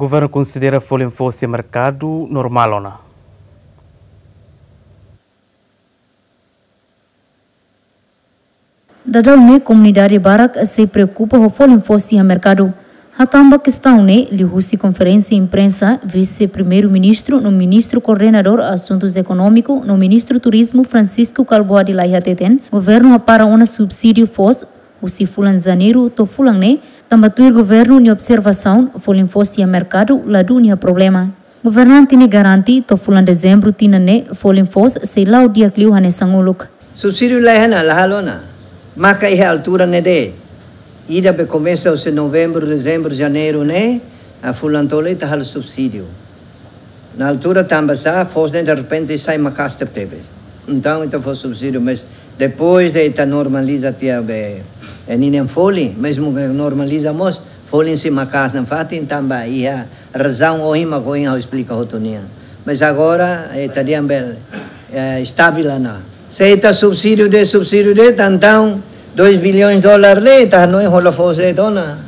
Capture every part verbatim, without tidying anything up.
Governu konsidera folin foos iha merkadu normál ona. Daudaun ne'e komunidade barak sei preokupa ho folin foos iha merkadu. Hatán ba kestaun ne'e liuhusi konferénsia imprensa, Vise-Primeiru-Ministru no Ministru Koordenadór Asuntus Ekonómiku no Ministru Turizmu, Francisco Kalbuadi Laiha hateten, governu hapara ona subsídiu foos husi fulan Janeiru to'o fulan ne'e, tanba tuir governu nia observasaun, folin foos iha merkadu ladún iha problema. Governante ne'e garante to'o fulan Dezembru tinan ne'e folin foos sei la'o di'ak liu hanesan uluk. Subsídiu la iha ona, la halo ona. Maka iha altura ne'e de'it. Ida be komesa husi Novembru, Dezembru, Janeiru ne'e, a fulan tolu ita halo subsídiu. Na altura tanba sá, foos ne'e derrepente sai maka'as tebetebes. Entaun, ita fó subsídiu, mas depois de ita normaliza tiha be, eh, ninia folin, mezmu ke normaliza mós, folin sei maka'as nafatin tanba iha razaun ohin mak ohin ha'u esplika hotu nian. Mas agora, eh, ita dehan be, eh, estabil ona. Se ita subsídiu de'it, subsídiu de'it, entaun dois bilhões dólar de'it, ita hanoin hola foos de'it ona.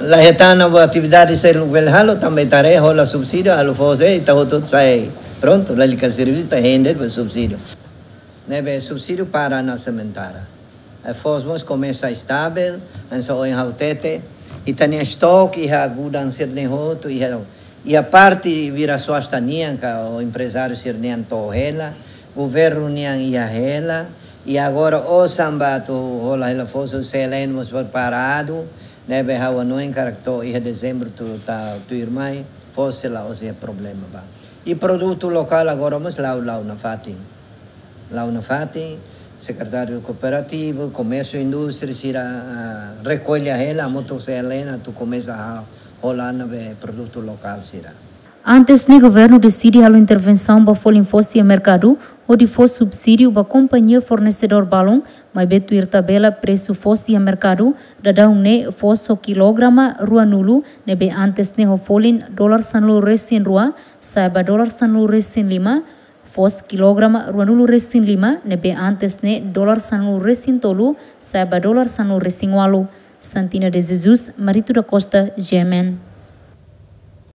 La hetan ona buat atividade seluk bele halo, tanba ita haree hola subsídiu, halo foos de'it, ita hotu sai. Prontu, lalika servisu, ita hein de'it ba subsídiu. Ne'ebé subsídiu para ona sementara. Eh, foos mós komesa estabil, hanesan ohin ha'u hatete, ita-nia estoke iha gudang sira-ne'e hotu, iha, iha parte vira swasta nian ka emprezáriu sira-nian to'o hela, governu nian iha hela, i agora osan ba atu hola hela foos CLN mós preparadu, ne'ebé ha'u hanoin karik to'o iha Dezembru atu, atu tuirmai, foos sei la'ós iha problema ba. I produtu lokál agora mós la'o, la'o nafatin. La'o nafatin, Sekretáriu Kooperativu, Komérsiu, Indústria, sira, ah, rekolla hela, hamutuk CLN atu komesa ha-, hola ona be produtu lokál sira. Antes ne'e governu deside halo intervensaun ba folin foos iha merkadu, hodi fó subsídiu ba kompañia fornesedór balun, maibé tuir tabela presu foos iha merkadu, daudaun ne'e foos ho kilograma ruanulu, ne'ebé antes ne'e ho folin dolar sanulu-resin-rua, sa'e ba dolar sanulu-resin-lima, foos kilograma ruanulu-resin-lima, ne'ebé antes ne'e dolar sanulu-resin-tolu, sa'e ba dolar sanulu-resin-ualu. Santina de Jesus, Marito da Costa, G M N.